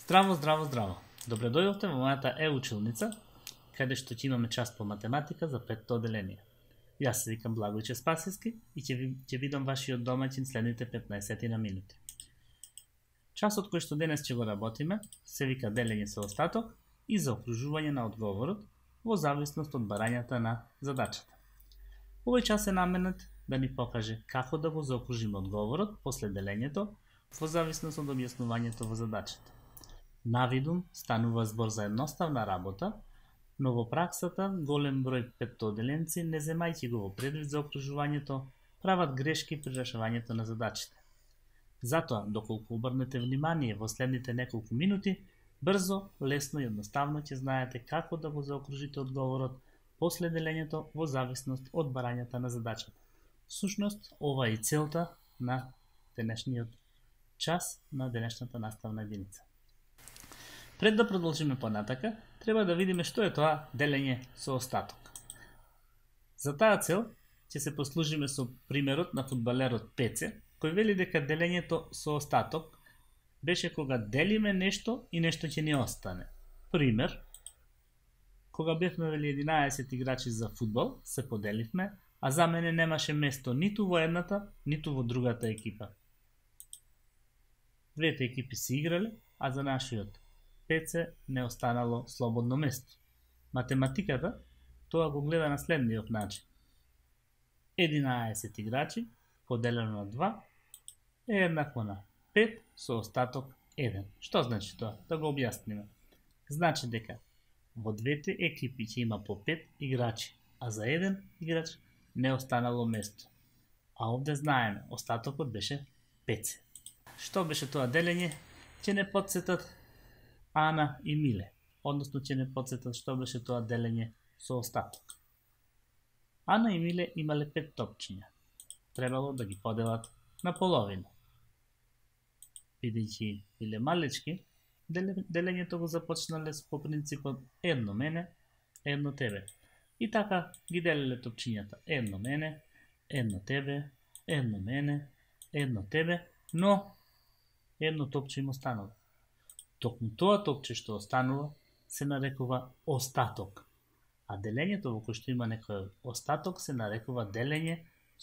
Здраво, здраво, здраво. Добре дојдовте во мојата училница, каде што ќе имаме час по математика за петто одделение. Јас се викам Благојче Спасиски и ќе бидам вашиот домаќин следните 15 на минути. Часот кој што денес ќе го работиме се вика делење со остаток и заокружување на одговорот во зависност од барањата на задачата. Овој час е наменет да ни покаже како да го заокружиме одговорот после делењето во зависност од објаснувањето во задачата. Навидум станува збор за едноставна работа, но во праксата голем број петтоделенци, не земајќи го во предвид за окружувањето, прават грешки при решавањето на задачите. Затоа, доколку обрнете внимание во следните неколку минути, брзо, лесно и едноставно ќе знаете како да го заокружите одговорот после делењето во зависност од барањата на задачата. Всушност, ова е и целта на денешниот час на денешната наставна единица. Пред да продолжиме понатака, треба да видиме што е тоа делење со остаток. За таа цел ќе се послужиме со примерот на фудбалерот Пеце, кој вели дека делењето со остаток беше кога делиме нешто и нешто ќе ни остане. Пример, кога бевме 11 играчи за фудбал, се поделивме, а за мене немаше место ниту во едната, ниту во другата екипа. Двете екипи се играле, а за нашиот Пеце не останало слободно место. Математиката тоа го гледа на следниот начин. 11 играчи поделено на 2 е еднакво на 5 со остаток 1. Што значи тоа? Да го објасниме. Значи дека во двете екипи ќе има по 5 играчи, а за еден играч не останало место. А овде знаеме, остатокот беше 5. Што беше тоа делење? Ќе не подсетат Ана и Миле, односно ќе не подсетат што беше тоа делење со остаток. Ана и Миле имале 5 топчиња. Требало да ги поделат на половина. Бидејќи биле малечки, делењето го започнале по принципот едно мене, едно тебе. И така ги делеле топчињата. Едно мене, едно тебе, едно мене, едно тебе, но едно топче им останало. Токму тоа топче што останува се нарекува остаток, а делењето во кој што има некој остаток се нарекува делење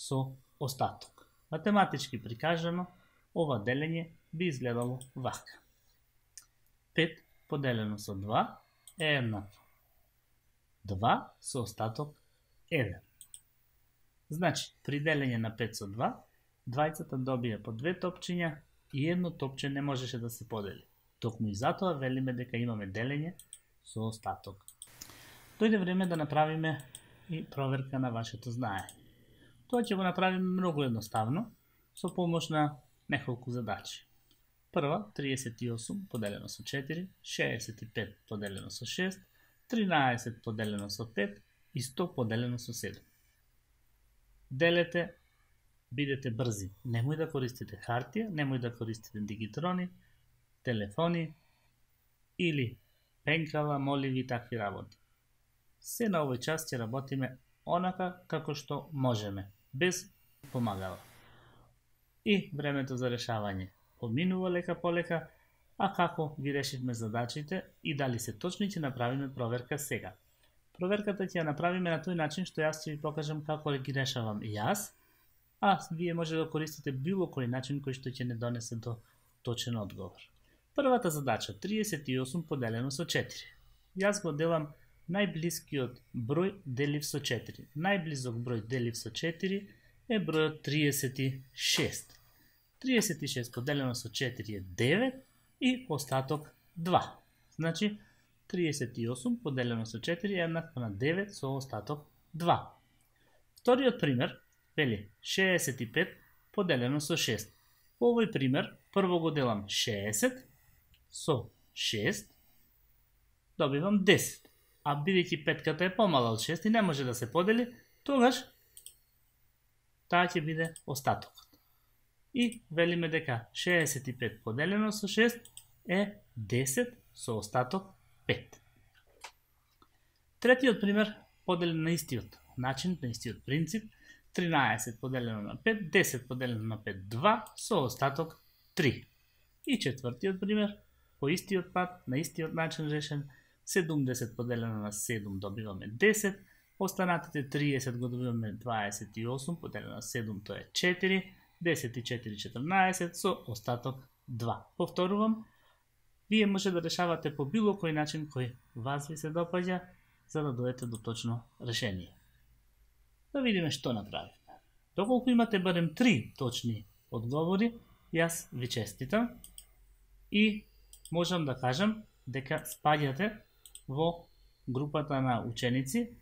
со остаток. Математички прикажано, ова делење би изгледало вака. 5 поделено со 2 е еднакво 2 со остаток 1. Значи, при делење на 5 со 2, двајцата добија по 2 топчиња и едно топче не можеше да се подели. Токму и затоа велиме дека имаме делење со остаток. Дојде време да направиме и проверка на вашето знаење. Тоа ќе го направиме многу едноставно, со помош на неколку задачи. Прва, 38 поделено со 4, 65 поделено со 6, 13 поделено со 5 и 100 поделено со 7. Делете, бидете брзи. Немој да користите хартија, немој да користите дигитрони, телефони или пенкала, моливи и такви работи. Се на овој час ќе работиме онака како што можеме, без помагала. И времето за решавање поминува лека по лека, а како ги решивме задачите и дали се точни ќе направиме проверка сега. Проверката ќе ја направиме на тој начин што јас ќе ви покажам како ги решавам јас, а вие може да користите било кој начин кој што ќе не донесе до точен одговор. Првата задача, 38 поделено со 4. Јас го делам најблискиот број делив со 4. Најблизок број делив со 4 е бројот 36. 36 поделено со 4 е 9 и остаток 2. Значи, 38 поделено со 4 е еднакво на 9 со остаток 2. Вториот пример вели 65 поделено со 6. Во овој пример, прво го делам 60 со 6, добивам 10. А бидејќи петката е помала од 6 и не може да се подели, тогаш таа ќе биде остатокот. И велиме дека 65 поделено со 6 е 10 со остаток 5. Третиот пример поделен на истиот начин, на истиот принцип, 13 поделено на 5, 10 поделено на 5, 2 со остаток 3. И четвртиот пример, по истиот пат, на истиот начин решен. 70 поделено на 7 добиваме 10, останатите 30 го добиваме 28, поделено на 7 тоа е 4, 10 и 4 14, со остаток 2. Повторувам, вие може да решавате по било кој начин кој вас ви се допаѓа, за да дојдете до точно решение. Да видиме што направивме. Доколку имате барем 3 точни одговори, јас ви честитам и можам да кажам дека спаѓате во групата на ученици,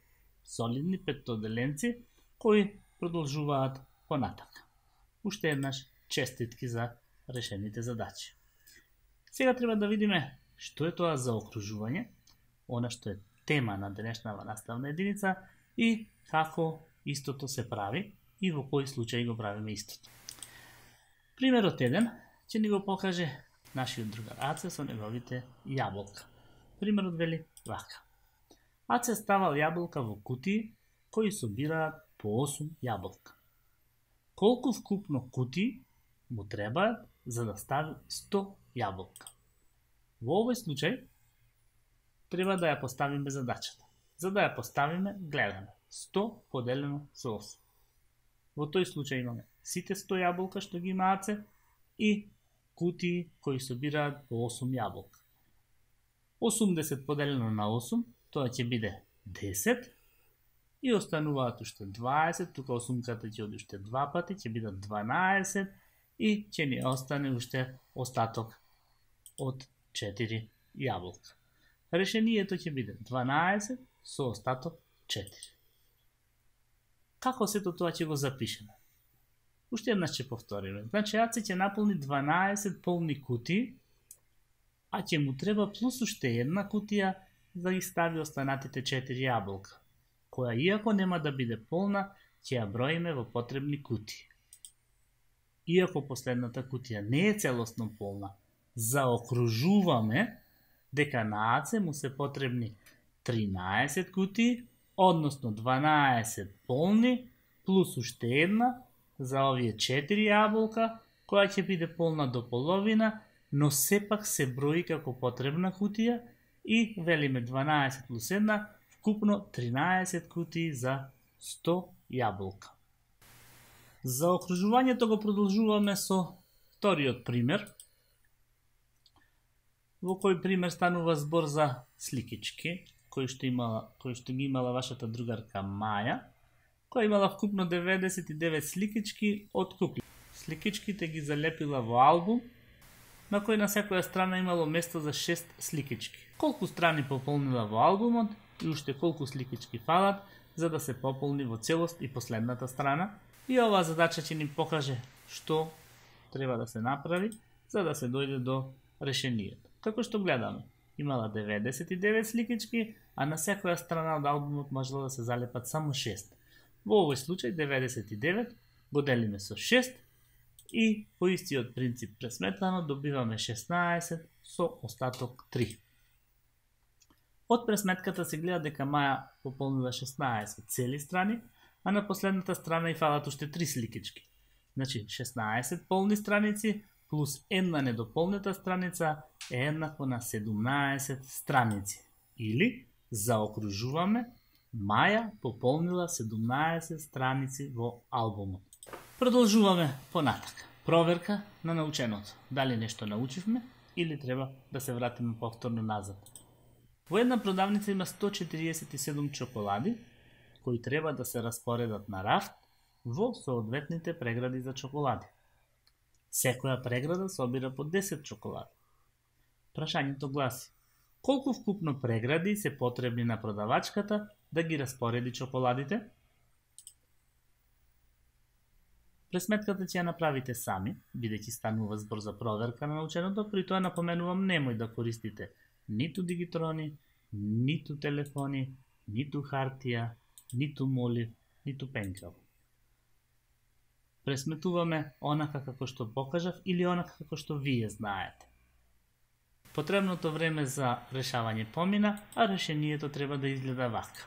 солидни петтоделенци, кои продолжуваат понатака. Уште еднаш честитки за решените задачи. Сега треба да видиме што е тоа заокружување, она што е тема на денешнава наставна единица и како истото се прави и во кој случај го правиме истото. Примерот 1 ќе ни го покаже нашиот другар Аце со неговите јаболка. Примерот вели вака. Аце ставал јаболка во кутии кои собираат по 8 јаболка. Колку вкупно кутии му требаат за да стави 100 јаболка? Во овој случај треба да ја поставиме задачата. За да ја поставиме, гледаме 100 поделено со 8. Во тој случај имаме сите 100 јаболка што ги има Аце и кутии кои собираат по 8 јаболка. 80 поделено на 8, тоа ќе биде 10 и остануваат уште 20, тука 8-ката ќе оди уште 2 пати, ќе бидат 12 и ќе ни остане уште остаток од 4 јаболка. Решението ќе биде 12 со остаток 4. Како сето тоа ќе го запишеме? Уште еднаш ќе повториме. Значи, Аце ќе наполни 12 полни кутии, а ќе му треба плюс уште една кутија да ги стави останатите 4 јаболка, која иако нема да биде полна, ќе ја броиме во потребни кутии. Иако последната кутија не е целосно полна, заокружуваме дека на Аце му се потребни 13 кутии, односно 12 полни, плюс уште една за овие 4 јаболка, која ќе биде полна до половина, но сепак се брои како потребна кутија и велиме 12 плюс 1, вкупно 13 кутии за 100 јаболка. Заокружувањето го продолжуваме со вториот пример, во кој пример станува збор за сликички, кој што ги имала вашата другарка Маја, која имала вкупно 99 сликички од кукле. Сликичките ги залепила во албум, на кој на секоја страна имало место за 6 сликички. Колку страни пополнила во албумот и уште колку сликички фалат за да се пополни во целост и последната страна. И оваа задача ќе ни покаже што треба да се направи за да се дојде до решението. Како што гледаме, имала 99 сликички, а на секоја страна од албумот можело да се залепат само 6. Во овој случај 99 го делиме со 6 и по истиот принцип пресметано добиваме 16 со остаток 3. Од пресметката се гледа дека Маја пополнила 16 цели страни, а на последната страна и фалат уште 3 сликички. Значи 16 полни страници плюс една недополнета страница е еднакво на 17 страници. Или заокружуваме, Маја пополнила 17 страници во албумот. Продолжуваме понатака. Проверка на наученото. Дали нешто научивме или треба да се вратиме повторно назад. Во една продавница има 147 чоколади кои треба да се распоредат на рафт во соодветните прегради за чоколади. Секоја преграда собира по 10 чоколади. Прашањето гласи: колку вкупно прегради се потребни на продавачката да ги распореди чоколадите? Пресметката ќе ја направите сами, бидејќи станува збор за проверка на наученото, при тоа напоменувам немој да користите ниту дигитрони, ниту телефони, ниту хартија, ниту молив, ниту пенкал. Пресметуваме онака како што покажав или онака како што вие знаете. Потребното време за решавање помина, а решението треба да изгледа вака.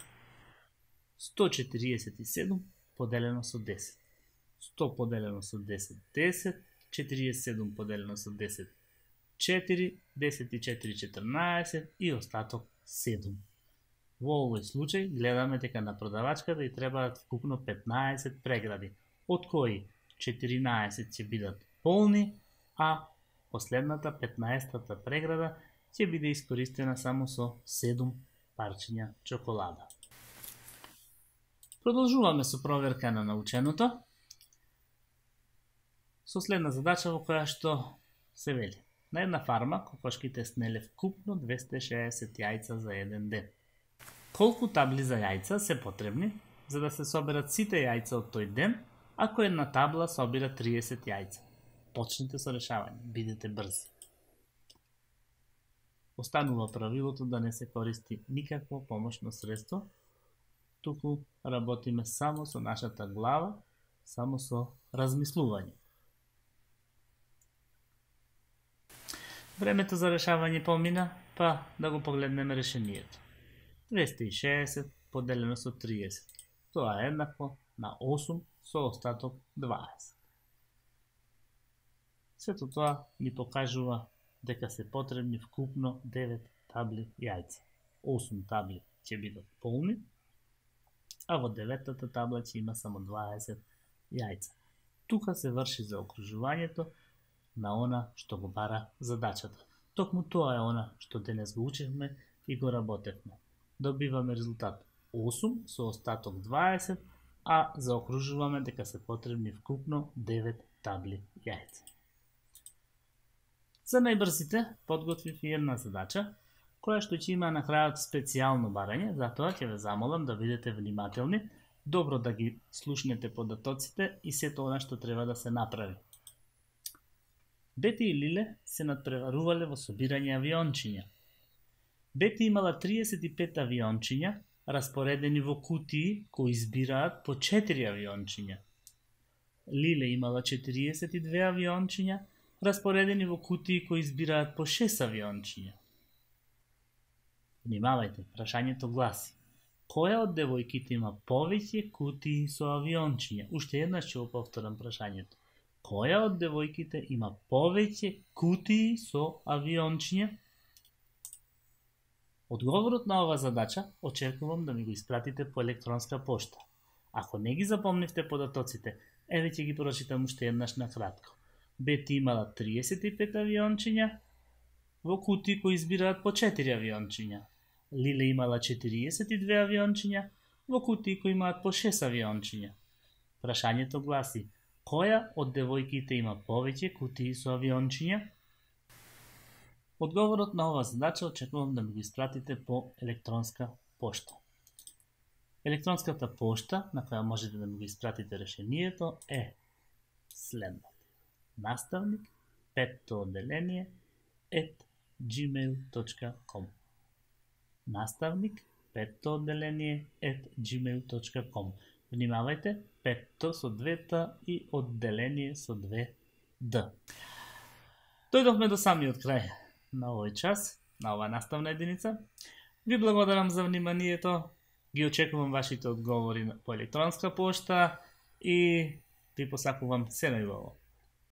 147 поделено со 10. 100 поделено со 10, 10, 47 поделено со 10, 4, 10 и 4, 14 и остаток 7. Во овој случај гледаме дека на продавачката и требаат вкупно 15 прегради, од кои 14 ќе бидат полни, а последната 15-та преграда ќе биде искористена само со 7 парчиња чоколада. Продолжуваме со проверка на наученото, со следна задача во која што се вели. На една фарма кокошките снеле вкупно 260 јајца за еден ден. Колку табли за јајца се потребни за да се соберат сите јајца од тој ден, ако една табла собира 30 јајца? Почнете со решавање, бидете брзи. Останува правилото да не се користи никакво помошно средство, туку работиме само со нашата глава, само со размислување. Времето за решавање помина, па да го погледнеме решението. 260 поделено со 30. Тоа е еднакво на 8 со остаток 20. Сето тоа ни покажува дека се потребни вкупно 9 табли јајца. 8 табли ќе бидат полни, а во 9-тата табла ќе има само 20 јајца. Тука се врши заокружувањето на она што го бара задачата. Токму тоа е она што денес го учевме и го работевме. Добиваме резултат 8 со остаток 20, а заокружуваме дека се потребни вкупно 9 табли јајца. За најбрзите подготвив и една задача, која што ќе има на крајот специјално барање, затоа ќе ве замолам да бидете внимателни, добро да ги слушнете податоците и сето она што треба да се направи. Бети и Лиле се надпреварувале во собирање авиончиња. Бети имала 35 авиончиња, распоредени во кутии кои избираат по 4 авиончиња. Лиле имала 42 авиончиња, распоредени во кутии кои избираат по 6 авиончиња. Внимавајте, прашањето гласи: која од девојките има повеќе кутии со авиончиња? Уште еднаш ќе го повторам прашањето. Која од девојките има повеќе кутии со авиончиња? Одговорот на оваа задача очекувам да ми го испратите по електронска пошта. Ако не ги запомнивте податоците, еве ќе ги прочитам уште еднаш на кратко. Бети имала 35 авиончиња во кутии кои избираат по 4 авиончиња. Лиле имала 42 авиончиња во кутии кои имаат по 6 авиончиња. Прашањето гласи: која од девојките има повеќе кутии со авиончиња? Одговорот на оваа задача очекувам да ми го испратите по електронска пошта. Електронската пошта на која можете да ми го испратите решението е следната: наставник, 5-то одделение, @gmail.com. Наставник, 5-то одделение, @gmail.com. Внимавајте, 5-то со 2-та и одделение со 2 Дојдовме до самиот крај на овој час, на оваа наставна единица. Ви благодарам за вниманието, ги очекувам вашите одговори по електронска пошта и ви посакувам се најубаво.